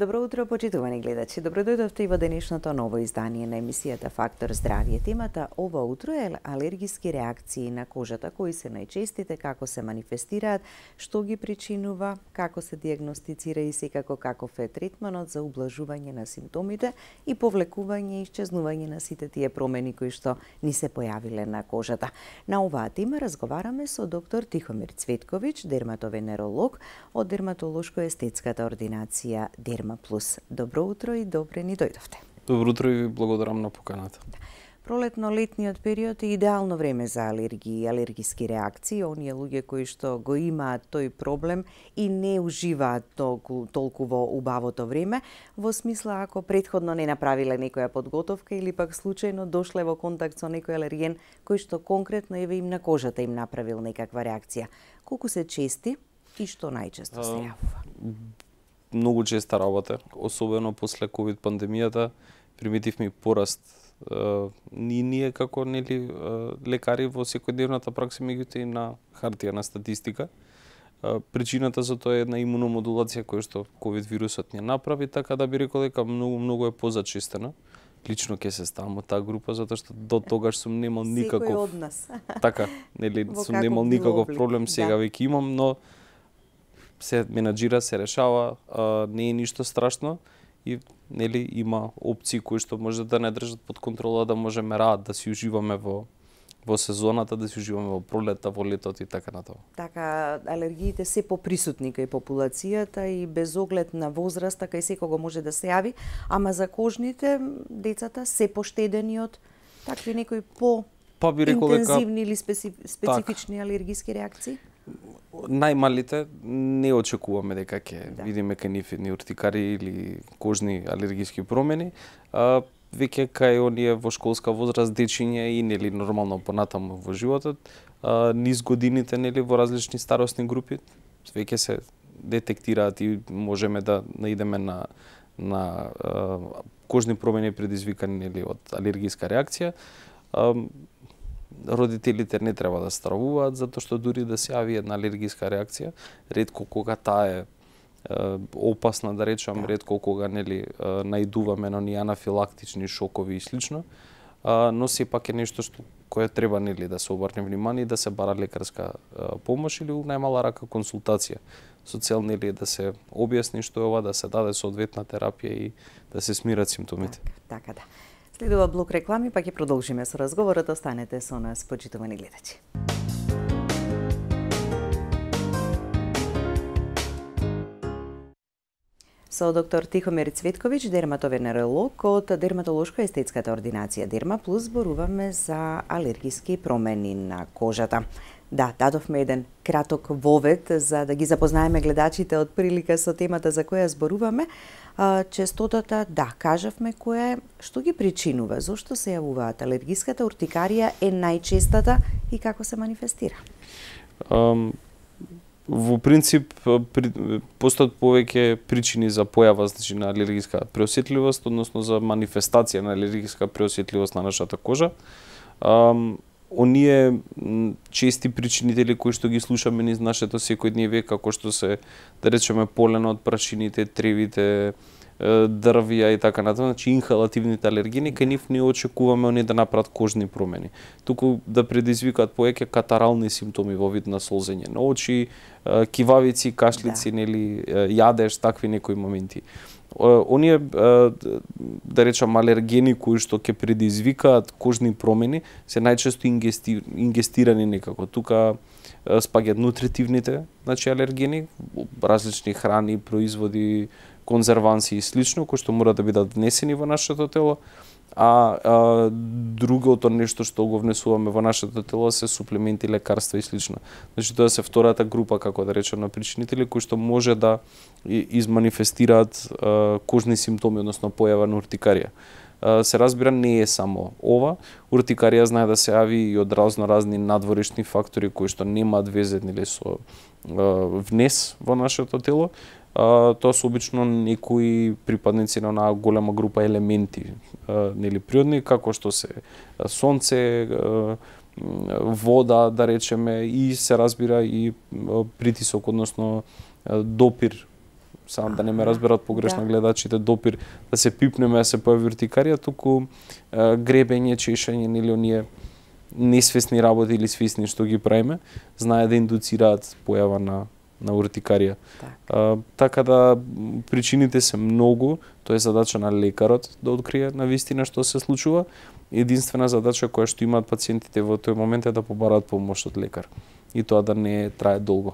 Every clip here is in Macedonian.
Добро утро, почитувани гледачи. Добро дојдовте и во денешното ново издание на емисијата Фактор здравје. Темата ова утро е алергиски реакции на кожата, кои се најчестите, како се манифестираат, што ги причинува, како се дијагностицира и секако каков е третманот за ублажување на симптомите и повлекување и исчезнување на сите тие промени кои што ни се појавиле на кожата. На оваа тема разговараме со доктор Тихомир Цветковиќ, дерматовенеролог од дерматолошко-естетската ординација Дерма Плюс. Добро утро и добре ни дојдовте. Добро утро и благодарам на поканата. Пролетно-летниот период е идеално време за алергии и алергиски реакции. Оние луѓе кои што го имаат тој проблем и не уживаат толку во убавото време, во смисла ако претходно не направиле некоја подготовка или пак случајно дошле во контакт со некој алерген кој што конкретно еве им на кожата им направил некаква реакција. Колку се чести и што најчесто се јавува? Многу честа работа, особено после ковид пандемијата, приметивме пораст. Ние како лекари во секојдневната пракса, меѓутоа и на хартија на статистика. Причината за тоа е една имуномодулација која што ковид вирусот ни направи, така да би рекол дека многу е позачестена. Лично ќе се ставам од таа група затоа што до тогаш сум немал никаков. Секој од нас. Така, сум немал никаков проблем, сега веќе имам, но се менаџира, се решава, не е ништо страшно и има опции кои што може да не држат под контрола, да можеме да си уживаме во сезоната, да си уживаме во пролетта, во летот и така натаму. Така, алергиите се поприсутни кај популацијата и без оглед на возраста кај секого може да се јави, ама за кожните децата се поштедени од такви некои интензивни или специфични алергиски реакции? Најмалите не очекуваме дека ќе видиме кај нив едни уртикари или кожни алергиски промени. Веќе кај оние во школска возраст дечиња и нормално понатаму во животот, низ годините во различни старосни групи веќе се детектираат и можеме да наидеме на кожни промени предизвикани од алергиска реакција. Родителите не треба да стравуваат, затоа што дури да се јави една алергиска реакција, ретко кога таа е опасна, да речам, ретко кога наидуваме на оние анафилактични шокови и слично, но сепак е нешто што кое треба да се обрне внимание и да се бара лекарска помош или најмала рака консултација со цел да се објасни што е ова, да се даде соодветна терапија и да се смират симптомите. Така да. Следува блок реклами, па ќе продолжиме со разговорот. Останете со нас, почитувани гледачи. Со доктор Тихомир Цветковиќ, дерматовенеролог од дерматолошко-естетската ординација Дерма Плюс, зборуваме за алергиски промени на кожата. Да, дадовме еден краток вовед за да ги запознаеме гледачите од прилика со темата за која зборуваме. Честотата, кажавме која е, што ги причинува, зошто се јавуваат? Алергиската уртикарија е најчестата и како се манифестира? Во принцип, постојат повеќе причини за појава на алергиска преосетливост, односно за манифестација на алергиска преосетливост на нашата кожа. Оние чести причинители кои што ги слушаме низ нашето секојдневие, како што се, да речеме, поленот, прашините, тревите, дрвја и така натаму, значи инхалативните алергени, кај нив не очекуваме оние да направат кожни промени, туку да предизвикаат повеќе катарални симптоми во вид на солзење на очи, кивавици, кашлици, јадеж, такви некои моменти. Оние, да речам, алергени кои што ќе предизвикаат кожни промени се најчесто ингестирани некако. Тука спаѓаат нутритивните, значи алергени, различни храни, производи, конзерванси и слично, кои што мора да бидат внесени во нашето тело, а другото нешто што го внесуваме во нашето тело се суплементи, лекарства и слично. Значи тоа се втората група, како да речем, на причинители кои што може да изманифестираат кожни симптоми, односно појава на уртикарија. Се разбира, не е само ова. Уртикарија знае да се јави и од разни надворешни фактори кои што немаат везе со внес во нашето тело. Тоа се обично некои припадници на онаа голема група елементи, природни, како што се сонце, вода, да речеме, и се разбира и притисок, односно допир само да не ме разберат погрешно гледачите, допир да се пипнеме, да се појави уртикарија, туку гребење, чешање, нели оние несвесни работи или свесни што ги правиме, знае да индуцираат појава на уртикарија. Така да причините се многу, тоа е задача на лекарот да открие на вистина што се случува. Единствена задача која што имаат пациентите во тој момент е да побараат помош од лекар и тоа да не трае долго.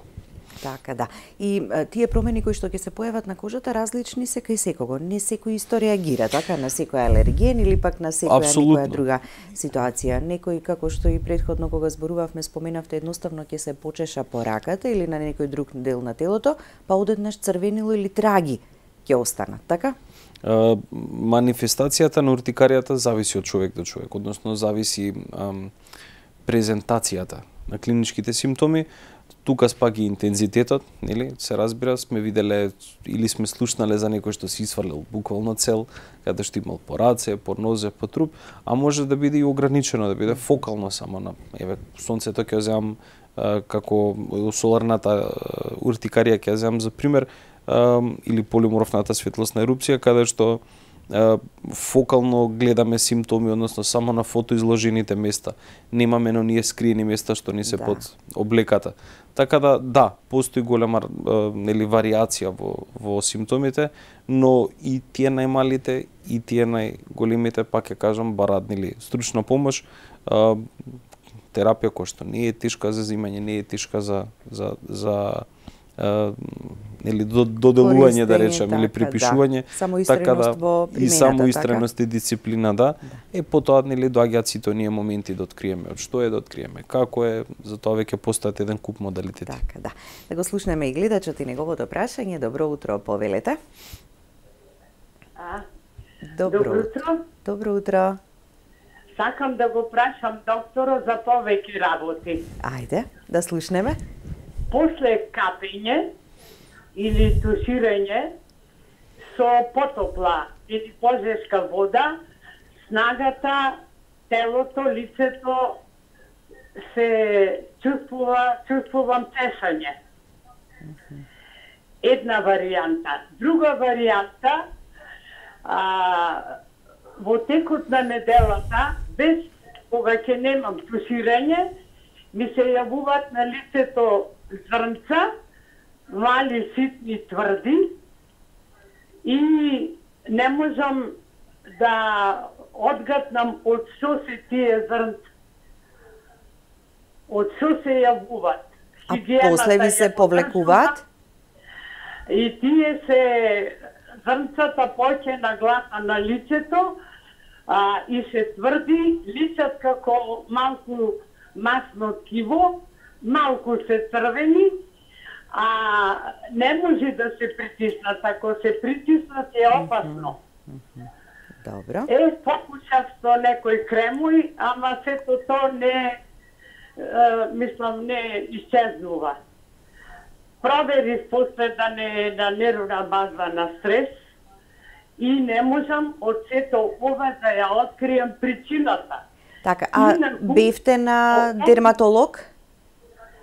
Така да. И тие промени кои што ќе се појават на кожата различни се кај секого. Не секој исто реагира, така, на секој алерген или пак на секоја друга ситуација. Некој, како што и претходно кога зборувавме, споменавте, едноставно ќе се почеша по раката или на некој друг дел на телото, па одеднаш црвенило или траги ќе останат, така? Манифестацијата на уртикаријата зависи од човек до човек, односно зависи презентацијата на клиничките симптоми. Тука спаги интензитетот, нели? Се разбира, сме виделе или сме слушнале за некој што си свалил буквално цел, каде што имал по раце, по нозе, по труп, а може да биде и ограничено, да биде фокално само на сонцето ќе земам како соларната уртикарија ќе земам за пример, или полиморфната светлосна ерупција, каде што фокално гледаме симптоми, односно само на фотоизложените места. Немаме на оние скриени места што ни се под облеката. Така да, постои голема нели варијација во симптомите, но и тие најмалите и тие најголемите, пак ќе кажам, бараат нели стручна помош, терапија која што не е тешка за земање, не е тешка за нели доделување, да речеме, или припишување, така да и само истреност и дисциплина, е потоа нели доаѓаат сите оние моменти да откриеме од што е, да откриеме како е, затоа веќе постојат еден куп модалитети. Така да. Да го слушнеме и гледачот и неговото прашање. Добро утро, повелете. Добро утро. Добро утро. Сакам да го прашам докторот за повеќе работи. Ајде, да слушнеме. После капење или туширање со потопла или позешка вода, снагата, телото, лицето се чувствувам чешање. Една варијанта. Друга варијанта, во текот на неделата, без кога ќе немам туширање, ми се јавуваат на лицето зрнца, мали, ситни, тврди и не можам да одгатнам од што се тие зрнца. Од што се јавуваат. А после ви се повлекуваат? И тие се зрнцата поќе нагласа на лицето и се тврди, личат како малку масно ткиво, малку се црвени, не може да се притиснат. Ако се притиснат е опасно. Добро. Покушав со некој кремој, ама сето тоа не, мислам, не исчезнува. Проверив после да не нервна база на стрес и не можам од сето ова да ја открием причината. Така, бевте на дерматолог?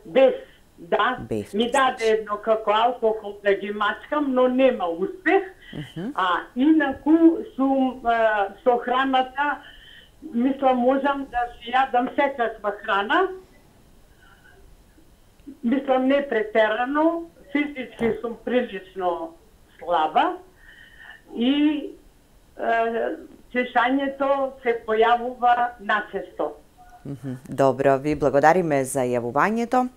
Без, да. Ми даде едно како алкохол да ги мачкам, но нема успех. Инаку сум со храната, мислам, можам да си јадам секаква храна. Мислам, не претерано, физички сум прилично слаба и чешањето се појавува начесто. Добро, ви благодариме за јавувањето.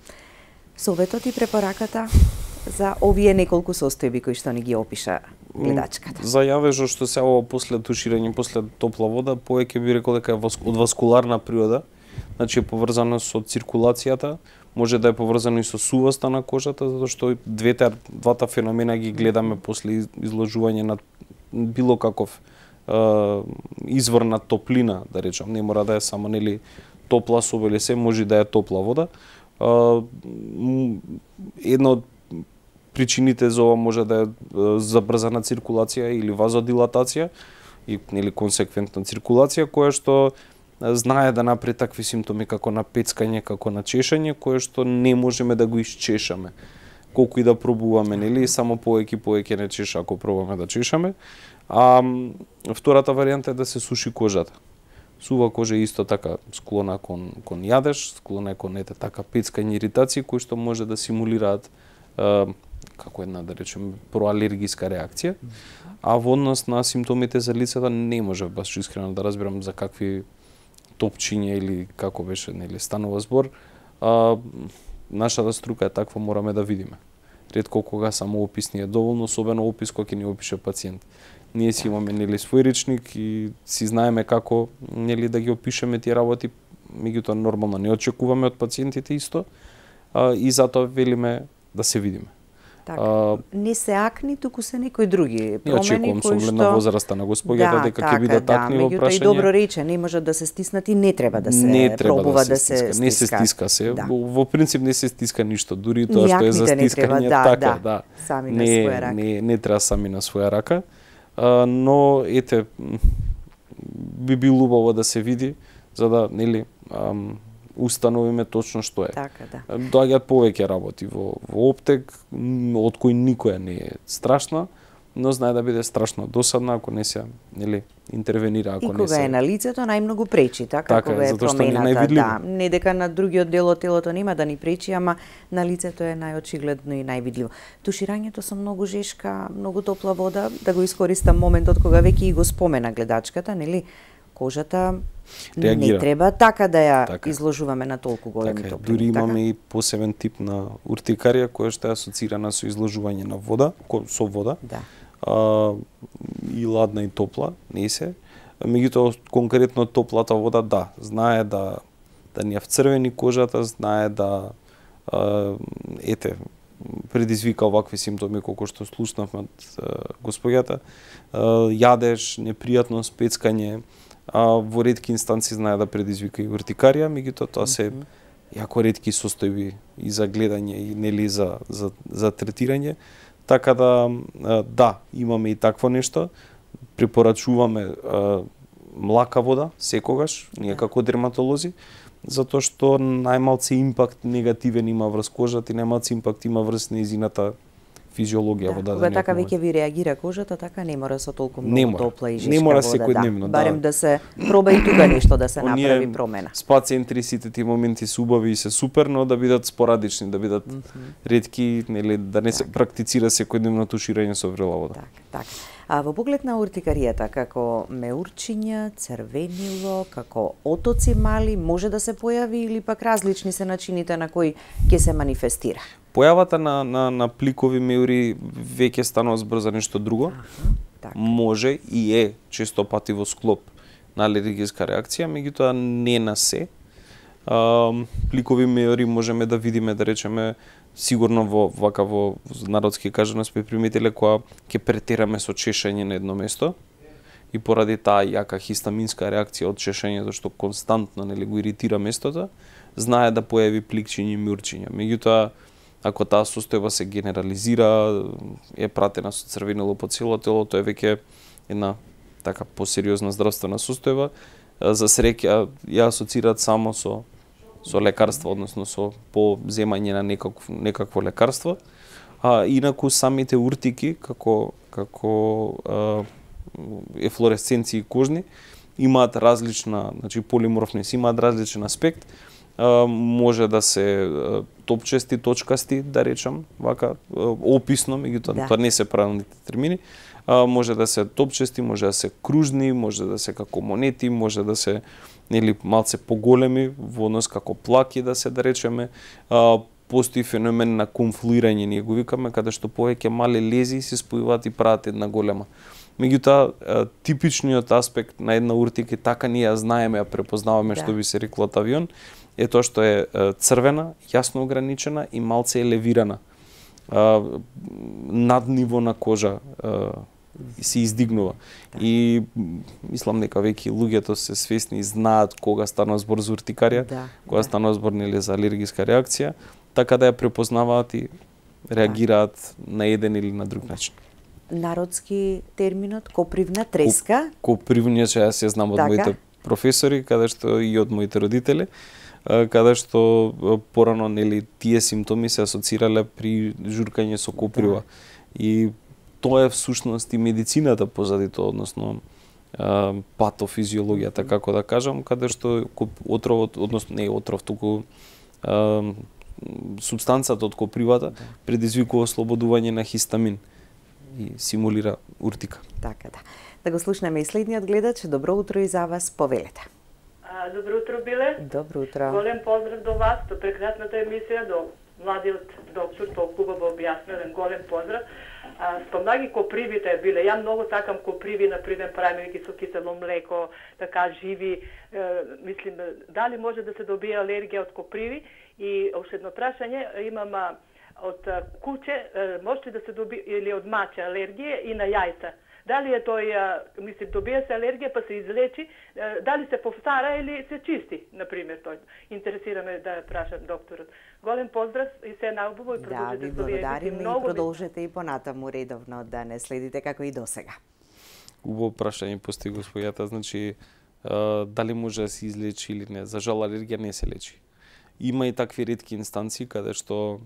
Советот и препораката за овие неколку состојби кои што ни ги опиша гледачката. За јавежот што се ова после туширање, после топла вода, повеќе би рекол дека е од васкуларна природа, значи е поврзано со циркулацијата, може да е поврзано и со сувоста на кожата, затоа што двата феномена ги гледаме после изложување на било каков извор на топлина, да речам, не мора да е само нели топла соба или се, може да е топла вода. Една од причините за ова може да е забрзана циркулација или вазодилатација и нели консеквентна циркулација која што знае да направи такви симптоми како на пецкање, како на чешање, кое што не можеме да го исчешаме. колку и да пробуваме, нели, само повеќе не чеша ако пробаме да чешаме. А втората варијанта е да се суши кожата. Сува кожа е исто така склона кон јадеж, склона е кон така пецкање иритации кои што може да симулираат како една, да речем, проалергиска реакција. А во однос на симптомите за лицето не може баш искрено да разберам за какви топчиња или како беше, нели, станува збор. Нашата струка е таква, мораме да видиме. Ретко кога само опис ни е доволно, особено опис кој ќе ни опише пациент. Ние си имаме, нели, свој речник и си знаеме како, нели, да ги опишеме тие работи, меѓутоа нормално не очекуваме од пациентите исто, и затоа велиме да се видиме. Така, не се акни, туку се некои други промени очекувам со кои оглед на возраста на господјата дека ќе бидат акни во прашање. И добро рече, не може да се стиснат и не треба да се пробува да се стиска. Не се стиска се. Во принцип не се стиска ништо, дури тоа што е за стискање, така, сами на своја рака. Не треба сами на своја рака. Но ете, би било убаво да се види за да, нели, установиме точно што е. Така, да. Доаѓаат повеќе работи во оптек, од кои никоја не е страшна, но знае да биде страшно досадна ако не се, нели, интервенира, ако не се. И кога е на лицето најмногу пречи, така кога е промената, не дека на другиот дел од телото нема да ни пречи, ама на лицето е најочигледно и највидливо. Туширањето со многу жешка, многу топла вода, да го искористам моментот кога веќе и го спомена гледачката, нели, кожата реагира. Не треба така да ја изложуваме на толку големи топлини. Дури имаме и посебен тип на уртикарија која што е асоцирана со изложување на вода, со вода. Да. И ладна и топла, не се. Меѓутоа конкретно топлата вода, да, знае да ни ја вцрвени кожата, знае да предизвика овакви симптоми колку што слушнавме од господјата. Јадеж, непријатност, пецкање, во ретки инстанции знае да предизвика и уртикарија, меѓутоа тоа се јако ретки состојби и за гледање и нели за третирање. Така да, имаме и такво нешто. Препорачуваме млака вода секогаш, ние како дерматолози, затоа што најмалце импакт негативен има врз кожата и најмалце импакт има врз нејзината физиологија во даден. Кога така веќе ви реагира кожата, така не мора со толку многу топла и жешка вода. Не мора секојдневно, барем да се проба и тука нешто да се направи промена. Спациентри сите тие моменти се убави и се супер, но да бидат спорадични, да бидат ретки, нели, да не се практицира секојдневно туширање со врела вода. Така. А во поглед на уртикаријата, како меурчиња, црвенило, како отоци мали, може да се појави или пак различни се начините на кои ќе се манифестира? Појавата на пликови меури веќе станува збор за нешто друго. Може и е често пати во склоп на алергиска реакција, меѓутоа не на се. Пликови меури можеме да видиме, да речеме, сигурно во народски кажано сме приметиле кога ќе претераме со чешење на едно место и поради таа јака хистаминска реакција од чешењето што константно, нели, го иритира местото, знае да појави пликчиња и меурчиња. Меѓутоа, ако таа состојба се генерализира, е пратена со црвенило по цело тело, тоа е веќе една така посериозна здравствена состојба. За среќа ја асоцираат само со лекарство, односно со поземање на некакво лекарство. Инаку самите уртики како ефлоресценции кожни имаат различна, значи полиморфност, имаат различен аспект. Може да се топчести, точкасти, да речам, вака описно, меѓутоа тоа не се правилните термини. Може да се топчести, може да се кружни, може да се како монети, може да се, нели, малце поголеми во однос како плаки, да се, да речеме. Постои феномен на конфлуирање, ние го викаме, каде што повеќе мали лези се спојуваат и прават една голема. Меѓутоа, типичниот аспект на една уртика, така ние ја знаеме, ја препознаваме, што би се рекло од авион, е тоа што е црвена, јасно ограничена и малце елевирана. Над ниво на кожа се издигнува. И мислам дека веќе луѓето се свесни и знаат кога станува збор за уртикарија, кога станува збор, нели, за алергиска реакција, така да ја препознаваат и реагираат на еден или на друг начин. Народски терминот копривна треска. Копривна, ја се знам од моите професори, каде што и од моите родители, каде што порано нели тие симптоми се асоцирале при журкање со коприва. И тоа е всушност и медицината позади тоа, односно патофизиологијата, како да кажам, каде што отровот, односно не отров, туку супстанцата од копривата предизвикува ослободување на хистамин и симулира уртика. Така да. Да го слушнеме и следниот гледач. Добро утро и за вас, повелете. Добро утро, Биле. Добро утро. Голем поздрав до вас, до прекрасната емисија, до младиот доктор, толку убаво објаснен, голем поздрав. Спомнаги копривите, Биле, ја многу сакам коприви, например, правиме ги со кисело млеко, така живи. Мислим, дали може да се добие алергија од коприви? И уште едно прашање, имам од куче, може ли да се добие, или од маче алергија и на јајца? Дали е тој, мислим, добие се алергија па се излечи, дали се повтара или се чисти, например, тој. Интересираме да прашам докторот. Голем поздрав и се наубаво и продолжете да ви благодариме и продолжете и понатаму редовно да не следите како и досега. Убаво прашање постои господјата, значи дали може да се излечи или не. За жал алергија не се лечи. Има и такви ретки инстанции каде што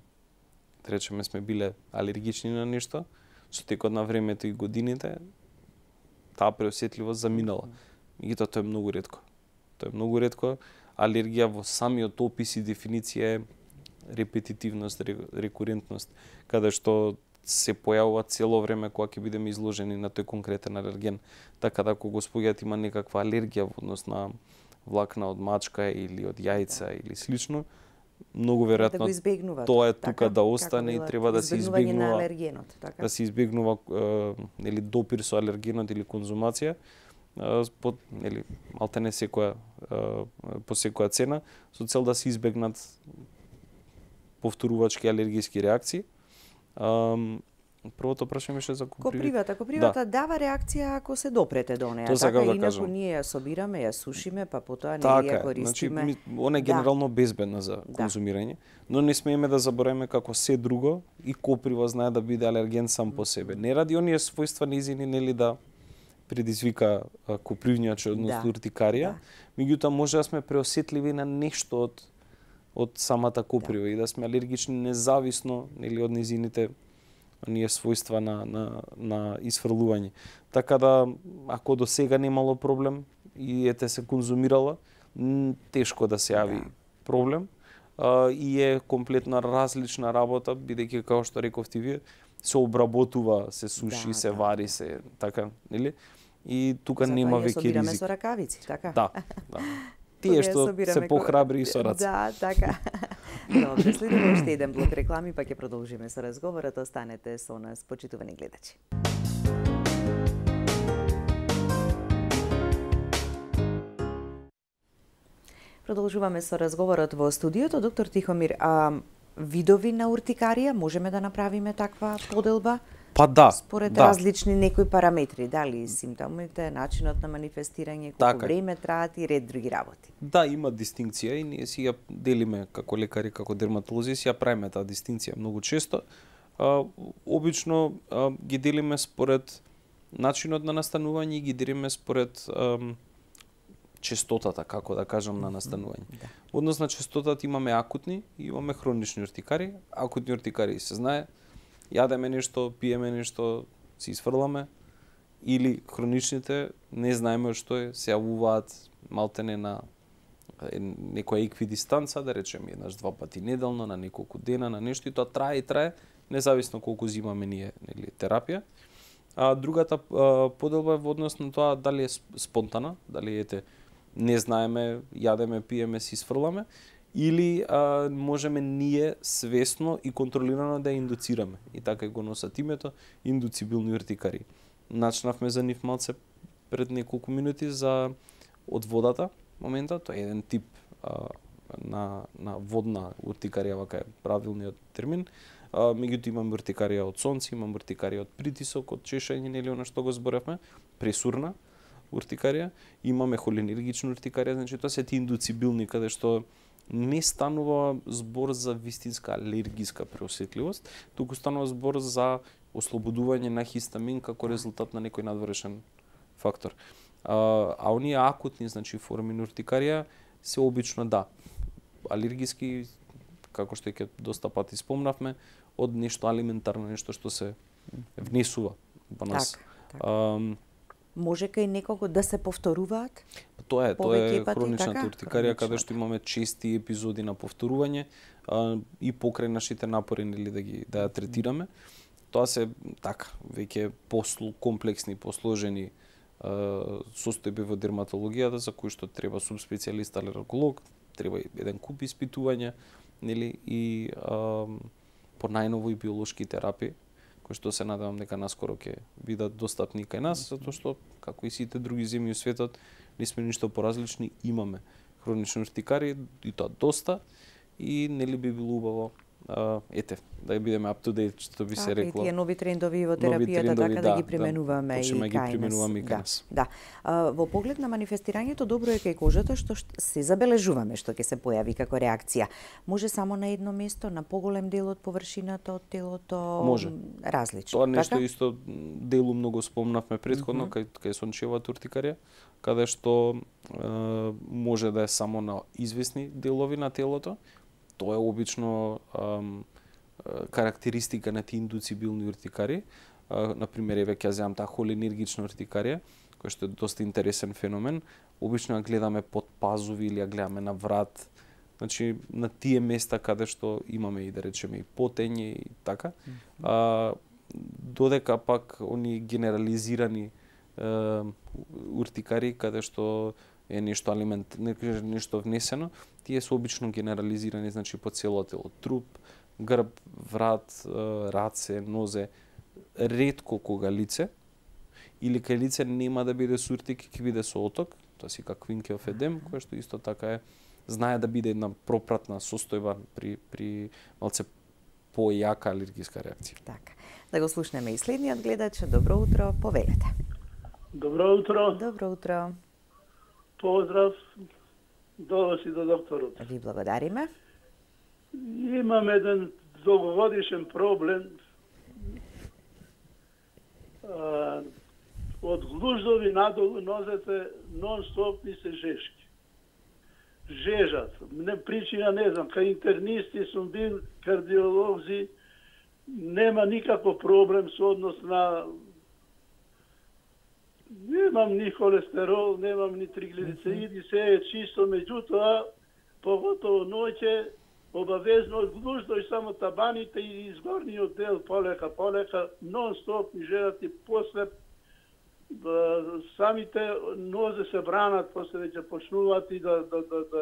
речеме сме биле алергични на нешто, со текот на времето и годините таа преосетливост заминала. Меѓутоа тоа е многу ретко. Тоа е многу ретко. Алергија во самиот опис и дефиниција е репетитивност, рекурентност, каде што се појавува цело време кога ќе бидеме изложени на тој конкретен алерген. Така да ако господјата има некаква алергија во однос на влакна од мачка или од јајца или слично, многу веројатно да тоа е тука да остане и треба да се избегнува така? Да се избегнува нели допир со алергенот или конзумација под нели малтене секоја по секоја цена со цел да се избегнат повторувачки алергиски реакции. Првото прашање беше за копривата. Копривата дава реакција ако се допрете до неа, така да инаку ние ја собираме, ја сушиме, па потоа не така, ја користиме. Значи, она е генерално безбедна за конзумирање, но не смееме да забораваме како се друго и коприва знае да биде алерген сам по себе. Не ради оние својства низини нели да предизвика копривњаче, односно уртикарија, меѓутоа може да сме преосетливи на нешто од самата коприва и да сме алергични независно нели од низините оние својства на исфрлување. Така да, ако до сега немало проблем и ете се конзумирала, тешко да се јави проблем и е комплетно различна работа, бидејќи како што рековте вие, се обработува, се суши, се вари, се така, нели? И тука нема веќе ризик. Затоа ја собираме со ракавици, така? Да. Тие што се похрабри и со раце. Да, така. Добре, следиме уште еден блок реклами, па ќе продолжиме со разговорот. Останете со нас, почитувани гледачи. Продолжуваме со разговорот во студиото. Доктор Тихомир, видови на уртикарија, можеме да направиме таква поделба? Па да. Според различни некои параметри, дали симптомите, начинот на манифестирање, колку време траат и ред други работи. Да, има дистинкција и ние си ја делиме како лекари, како дерматолози, си ја правиме таа дистинкција многу често. Обично ги делиме според начинот на настанување и ги делиме според честотата, како да кажам, на настанување. Однос на честотата имаме акутни и имаме хронични уртикари. Акутни уртикари се знае, јадеме нешто, пиеме нешто, си изфрламе, или хроничните не знаеме што е, се јавуваат малтене на некоја еквидистанца, да речеме еднаш два пати неделно, на неколку дена, на нешто, и тоа трае и трае, независно колку зимаме ние нели терапија. А другата поделба е во однос на тоа дали е спонтана, дали не знаеме, јадеме, пиеме, си изфрламе, или можеме ние свесно и контролирано да ја индуцираме. И така го носат името индуцибилни уртикари. Начнавме за нив малце пред неколку минути од водата, момента, тоа е еден тип на водна уртикарија, вака е правилниот термин. Меѓутоа имаме уртикарија од сонце, имаме уртикарија од притисок, од чешање, нели она што го зборевме, пресурна уртикарија, имаме холинергична уртикарија, значи тоа се ти индуцибилни каде што не станува збор за вистинска алергиска преосетливост, туку станува збор за ослободување на хистамин како резултат на некој надворешен фактор. А оние акутни, значи форми на уртикарија се обично алергиски, како што ќе доста пати спомнавме, од нешто алиментарно, нешто што се внесува во нас. Може кај некого да се повторуваат? Тоа е пати, хроничната уртикарија, каде што имаме чести епизоди на повторување и покрај нашите напори да ја третираме. Тоа се веќе комплексни, посложени состојби во дерматологијата за кои што треба субспецијалист алерголог, треба еден куп испитувања, и по најново и биолошки терапии, кои што се надевам дека наскоро ќе бидат достапни кај нас, затоа што како и сите други земји во светот не сме ништо поразлични, имаме хронични уртикари и тоа доста, и би било убаво да бидеме up to date, што би се рекло. И тие нови трендови во терапијата, така да ги применуваме и кај нас. Да. Во поглед на манифестирањето, добро е кај кожата што се забележуваме што ќе се појави како реакција. Може само на едно место, на поголем дел од површината од телото, може различно. Тоа нешто исто делу многу спомнавме претходно кај сончевата уртикарија, каде што може да е само на извесни делови на телото. Тоа е обично карактеристика на тие индуцибилни уртикари. Например, ќе земам таа холинергична уртикарија, која што е доста интересен феномен. Обично ја гледаме под пазуви или ја гледаме на врат. Значи, на тие места каде што имаме и да речеме и потење и така. Додека пак они генерализирани уртикари каде што е нешто нешто внесено, тие се обично генерализирани, значи по цело тело, труп, грб, врат, раце, нозе, ретко кога лице, или кај лице нема да биде со уртик, ќе биде со оток, тоа си како квинкев едем, која што исто така знае да биде една пропратна состојба при малце појака алергиска реакција. Така. Да го слушнеме и следниот гледач. Добро утро, повелете. Добро утро. Добро утро. Поздрав до вас и до докторот. Ви благодариме. Имам еден долгогодишен проблем. Од глуждови надолу нозете нон-стоп ми се жешки. Жежат. Причина не знам. Кај интернисти сум бил, кардиолози, нема никаков проблем со однос на... Немам ни холестерол, немам ни триглицериди, се е чисто, меѓутоа, поготово ноќе, обавезно од глуждој само табаните и изгорниот дел полека, нон-стоп ми жежат и после самите нозе се бранат, после веќе почнуваат и да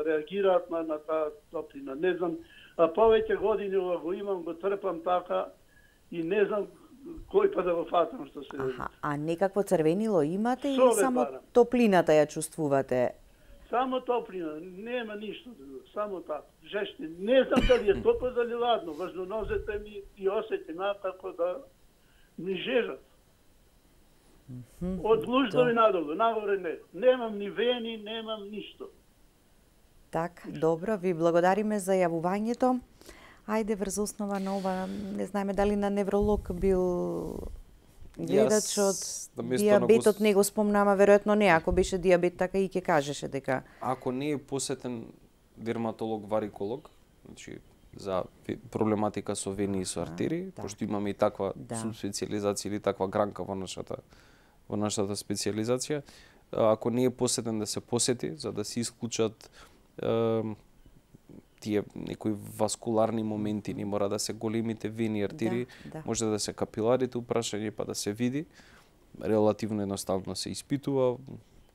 реагираат на таа топлина. Не знам, а повеќе години ова го имам, го трпам така и не знам кој па да го фатам што се деси. А некакво црвенило имате или само топлината ја чувствувате? Само топлина, нема ништо друго, само така. Жешти, не знам дали е топло дали ладно, важно нозете ми и осеќам како да ми жежат. Од глуждови надолу, нагоре не. Немам ни вени, немам ништо. Так, добро, ви благодариме за јавувањето. Ајде врз основа на ова, не знаеме дали на невролог бил гледачот, диабетот не го спомнама, веројатно не, ако беше диабет така и ќе кажеше дека... Ако не е посетен дерматолог-вариколог, значи за проблематика со вени и со артерии, пошто имаме и таква субспецијализација или таква гранка во нашата специјализација, ако не е посетен да се посети, за да се исклучат тие некои васкуларни моменти, не мора да се големите вени и артерии, може да се капиларите упрашање па да се види. Релативно едноставно се испитува,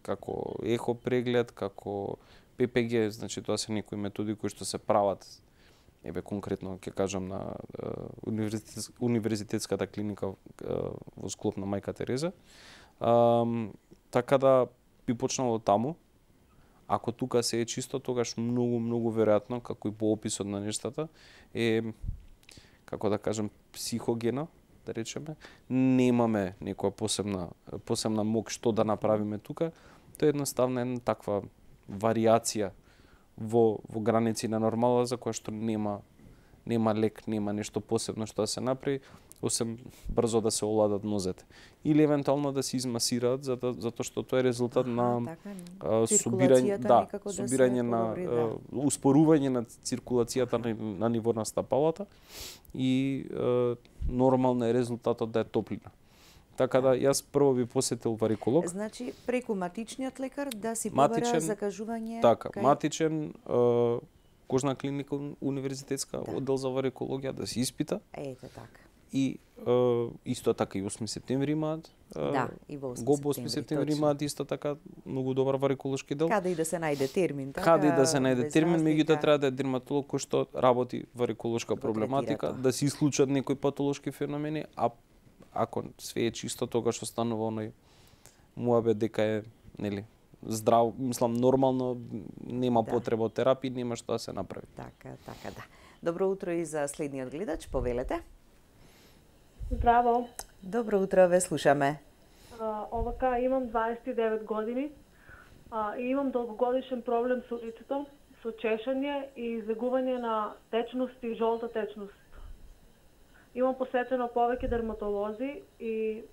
како ехо преглед, како ППГ, значи тоа се некои методи кои што се прават, конкретно ќе кажам на универзитетската клиника во склоп на Мајка Тереза. Така да би почнало таму. Ако тука се е чисто, тогаш многу веројатно, како и по описот на нештата, е, како да кажем, психогена, да речеме. Немаме некоја посебна мок што да направиме тука. Тоа е едноставно една таква варијација во граници на нормала, за која што нема лек, нема нешто посебно што да се направи. осем брзо да се оладат нозете. Или евентуално да се измасираат, затоа што тоа е резултат на собирање на успорување на циркулацијата на ниво на стапалата и нормално е резултатот да е топлина. Така да јас прво би посетил вариколог. Значи преку матичниот лекар да си побара закажување. Така, матичен кожна клиника универзитетска оддел за варикологија да се испита. Ете така. И исто така и 8 септември имаат. Да, и во 8 септември имаат исто така многу добар вариколошки дел. Каде и да се најде термин, така. Каде и да се најде термин, меѓутоа треба да е дерматолог кој што работи вариколошка проблематика, да се исклучат некои патолошки феномени, а ако све е чисто, тогаш останува оној муабет дека е, нели, здрав, мислам нормално, нема потреба од терапија, нема што да се направи. Така, да. Добро утро и за следниот гледач, повелете. Здраво. Добро утро, ве слушаме. Овака, имам 29 години и имам долгогодишен проблем со лицето, со чешање и излегување на течност и жолта течност. Имам посетено повеќе дерматолози и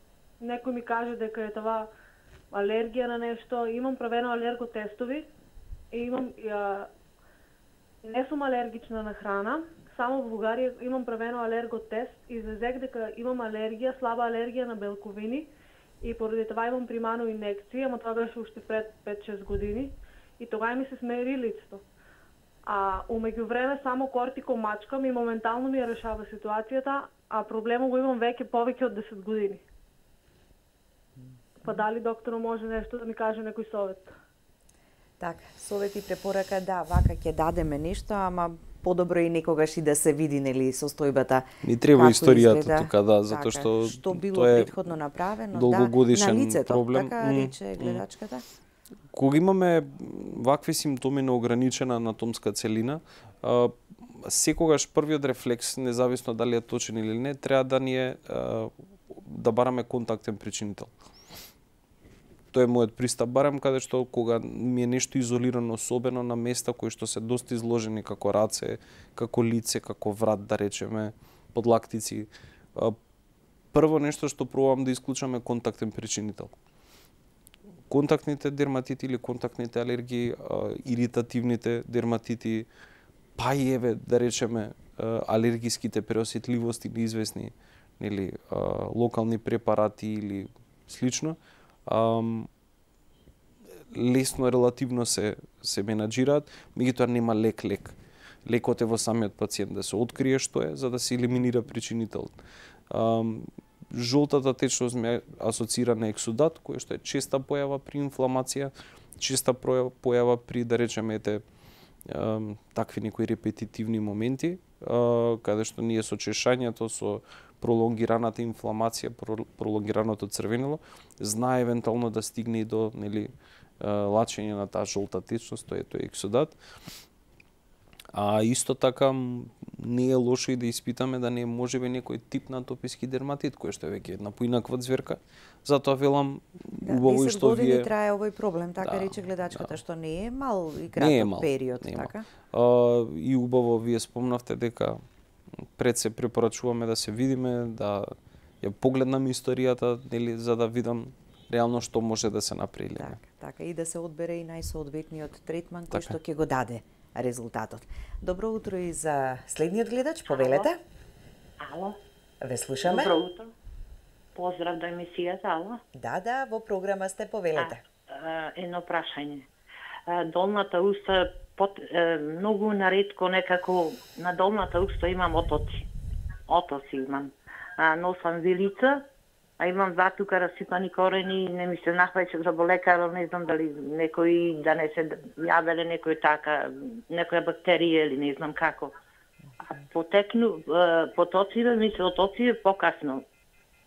некој ми каже дека е това алергија на нешто. Имам правено алерготестови и имам не сум алергична на храна. Само во Бугарија имам правено алерготест и излезек дека имам алергија, слаба алергија на белковини и поради това имам примано инекција, ама тоа беше уште пред 5-6 години и тогава ми се смери лицето. А умеѓу време само кортико мачкам и моментално ми ја решава ситуацијата, а проблемот го имам веќе повеќе од 10 години. Па дали докторот може нешто да ми каже некој совет? Така, совет и препорака, да, вака ќе дадеме нешто, ама подобро и некогаш и да се види, нели, состојбата. Ми треба историјата тука, да, затоа што било претходно направено, долгогодишен на лицето, проблем. Така рече гледачката. Кога имаме вакви симптоми на ограничена анатомска целина, секогаш првиот рефлекс, независно дали е точен или не, треба да ни е да бараме контактен причинител. Тоа е мојот пристап, барам каде што кога ми е нешто изолирано, особено на места кои што се доста изложени, како раце, како лице, како врат, да речеме, подлактици. Прво нешто што пробувам да исклучам е контактен причинител. Контактните дерматити или контактните алергии, иритативните дерматити, па и еве, да речеме, алергиските преосетливости неизвестни, или локални препарати или слично, лесно релативно се менаџираат, меѓутоа нема лек. Лекот е во самиот пациент да се открие што е, за да се елиминира причинителот. Жолтата течност ме асоцира на ексудат, кој што е честа појава при инфламација, честа појава при, да речеме, такви некои репетитивни моменти, каде што ние со чешањето, со пролонгираната инфламација, пролонгираното црвенило, знае евентуално да стигне и до, нели, лачење на таа жолта течност, тоа е ексудат. А исто така не е лошо и да испитаме да не е можеби некој тип на атописки дерматит, кој што е веќе една поинаква ѕверка. Затоа велам убаво и што вие 10 години трае овој проблем, така рече гледачката, што не е мал и краток период, така. И убаво вие спомнавте дека пред се препорачуваме да се видиме, да ја погледнам историјата, нели, за да видам реално што може да се направи. Така, и да се одбере и најсоодветниот третман кој што ќе го даде резултатот. Добро утро и за следниот гледач, повелете. Ало. Ве слушаме. Добро утро. Поздрав до емисијата, ало. Да, во програма сте, повелете. Едно прашање. Долната уста многу наретко некако на долната уста имам отоци. Отоци имам. Носам вилица, а имам два тука расипани корени, не ми се нахваќа за болекар, не знам дали некој да не се јавеле некој така, некоја бактерија или не знам како. А потоциве ми се отоциве покасно,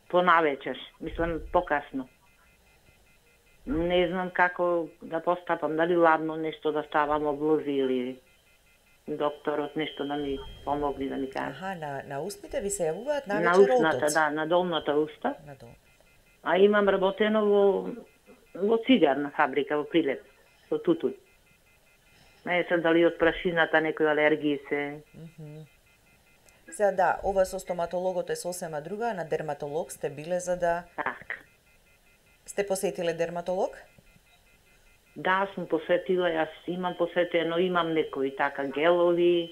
понавечер, мислам покасно. Не знам како да постапам, дали ладно нешто да ставам облози или докторот нешто да ми помогне да ми каже. На устните ви се јавуваат навечер отоци? На устната, да, на долната уста. А имам работено во цигарна фабрика во Прилеп, во Тутуј. Не се дали од прашината некои алергии се... Сега да, ова со стоматологот е сосема друга, на дерматолог сте биле за да... Така. Сте посетиле дерматолог? Да, сум посетила, јас имам посетено, имам некои така гелови,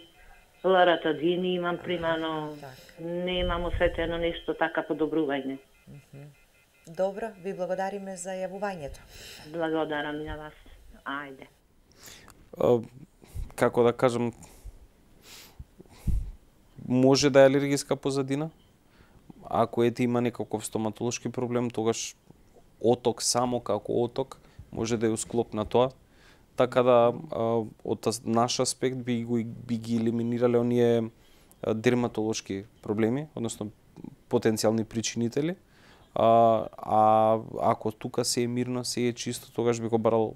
ларатадини имам примано, немам осетено нешто така подобрување. Добро, ви благодариме за јавувањето. Благодарам на вас. Ајде. Како да кажам, може да е алергиска позадина. Ако има некаков стоматолошки проблем, тогаш оток само како оток може да е усклоп на тоа. Така да од наш аспект би ги елиминирале оние дерматолошки проблеми, односно потенцијални причинители. Ако тука се е мирно, се е чисто, тогаш би го барал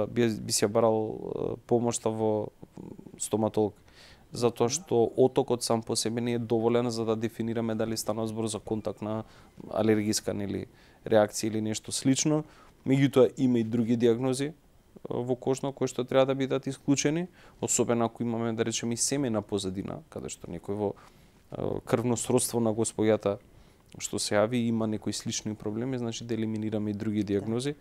би се барал помошта во стоматолог. Затоа што отокот сам по себе не е доволен за да дефинираме дали станува збор за контактна алергиска реакција или нешто слично. Меѓутоа има и други диагнози во кожно кои што треба да бидат исклучени, особено ако имаме да речеме и семена позадина, каде што некој во крвно сродство на господјата што се јави има некои слични проблеми, значи да елиминираме и други диагнози.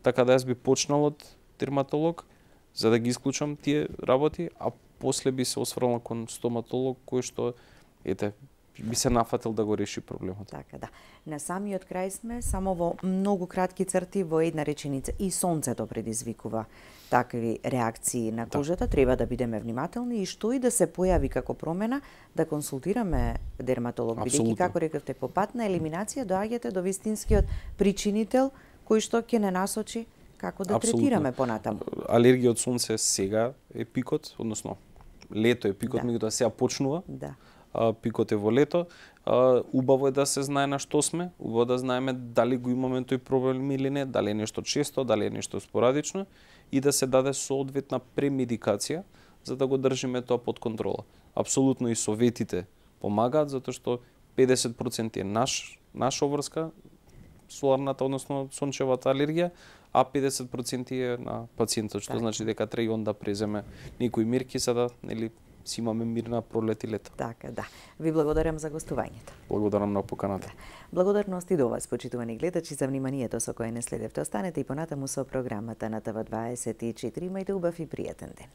Така да јас би почнал од дерматолог за да ги исклучам тие работи, а после би се осврнал кон стоматолог кој што би се нафатил да го реши проблемот. Така да. На самиот крај сме, само во многу кратки црти, во една реченица. И сонцето предизвикува такви реакции на кожата. Треба да бидеме внимателни и што и да се појави како промена, да консултираме дерматолог. Бидејќи, како рекавте, по пат на елиминација доаѓате до вистинскиот причинител кој што ќе не насочи како да третираме понатаму. Алергија од сонце сега е пикот, односно лето е пикот, меѓутоа сега почнува. Да. Пикот е во лето. Убаво е да се знае на што сме, убаво да знаеме дали го имаме тој проблем или не, дали е нешто често, дали е нешто спорадично и да се даде соодветна премедикација за да го држиме тоа под контрола. Апсолутно и советите помагаат затоа што 50% е наша обврска соларната, односно сончевата алергија, а 50% е на пациентот, што значи дека треба и он да преземе некои мерки за да си имаме мирна пролет и лето. Така, да. Ви благодарам за гостувањето. Благодарам на поканата. Благодарност и до вас, почитувани гледачи, за вниманието со кое не следевте. Останете и понатаму со програмата на ТВ24. Имајте убав и пријатен ден.